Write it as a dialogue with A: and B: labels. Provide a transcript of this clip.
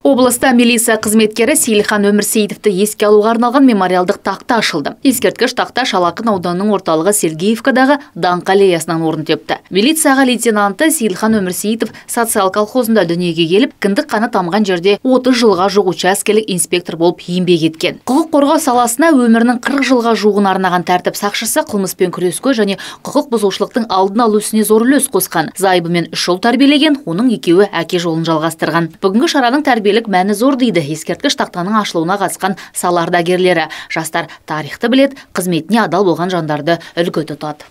A: Облыста милиция қызметкері Сейілхан Өмірсейітовті еске алуға арналған мемориалдық тақта ашылды. Ескерткіш тақта Шалақын ауданының орталығы Сергеевкадағы Даңқ аллеясынан орын тепті. Милицияға лейтенанты Сейілхан Өмірсейітов социал колхозында дүниеге келіп, кіндік қаны тамған жерде 30 жылға жуық учаскелік инспектор болып еңбек еткен. Құқық қорғау саласына өмірінің 40 жылға жуығын арнаған тәртіп сақшысы қылмыспен күреске және құқық бұзушылықтың алдын алу ісіне зор үлес қосқан. Зайыбымен 3 ұл тәрбиелеген, оның екеуі әке жолын жалғастырған. Бүгінгі шараның тәрбиелік мәні зор дейді ескерткіш тақтаның ашылуына қатысқан сала ардагерлері. Жастар тарихты білет, қызметіне адал болған жандарды үлгі тұтады.